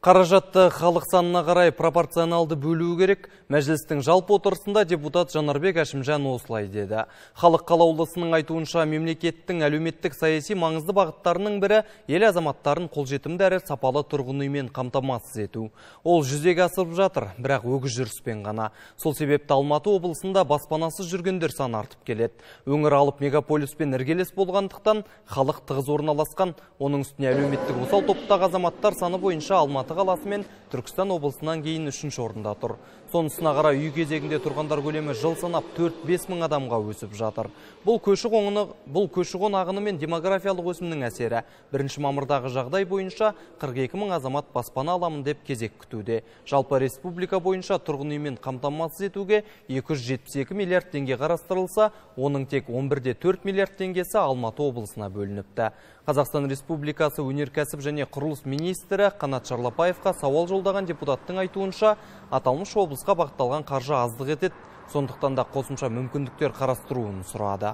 Қаражатты халық санына қарай пропорционалды бөлуі керек. Мәжілістің жалпы отырысында депутат Жанарбек Әшімжан осылай деді. Халық қалаулысының айтуынша мемлекеттің әлеуметтік саяси маңызды бағыттарының бірі ел азаматтарын қолжетімді әрі сапалы тұрғын үймен қамтамасыз ету. Ол жүзеге асырып жатыр, бірақ өгіз жүріспен ғана. Сол себепті Алматы облысында баспанасыз жүргендер саны артып келеді. Өңір алып мегаполиспен іргелес болғандықтан халық тығыз орналасқан. Оның үстіне әлеуметтік осал топтағы азаматтар саны бойынша Алматы қаласы мен Түркістан облысынан кейін 3-ші орында тұр. Сонысына қарай үй кезегінде тұрғандар көлемі жыл санап 4-5 мың адамға өсіп жатыр. Бұл көші-қон ағыны мен демографиялық өсімнің әсері. 1 мамырдағы жағдай бойынша 42 мың азамат баспана аламын деп кезек күтуде. Жалпы республика бойынша тұрғын үймен қамтамасыз етуге 272 миллиард теңге қарастырылса, оның тек 11,4 миллиард теңгесі Алматы облысына бөлініпті. Қазақстан Республикасы өнеркәсіп және құрылыс министрі Қанат Шарлапаевқа сауал жолдаған депутаттың айтуынша, аталмыш облысқа бағытталған қаржы аздық етеді, сондықтан да қосымша мүмкіндіктер қарастыруын сұрады.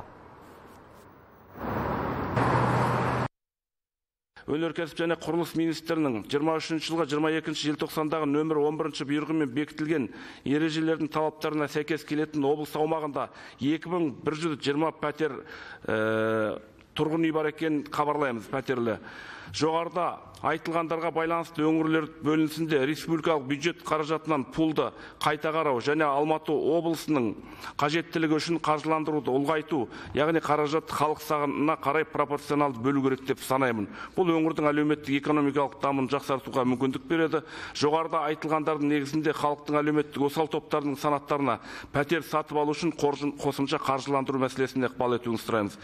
Өнеркәсіп және құрылыс министрінің 23 жылға 22 желтоқсандағы нөмір 11 бұйрығымен бекітілген ережелердің талаптарына сәйкес келетін облыс аумағында 2120 пәтер тұрғын үй бар екенін хабарлаймыз, пәтерлі. Жоғарыда айтылғандарға байланысты өңірлер бөлінісінде республикалық бюджет қаражатынан пулды қайта қарау және Алматы облысының қажеттілігі үшін қаржыландыруды ұлғайту, яғни қаражат халық санына қарай пропорционалды бөлу керек деп санаймын. Бұл өңірдің әлеуметтік экономикалық дамуын жақсартуға мүмкіндік береді. Жоғарыда айтылғандардың негізінде халықтың әлеуметтік осал топтарының санаттарына пәтер сатып алу үшін қосымша қаржыландыру мәселесіне ықпал етуіңізді сұраймыз.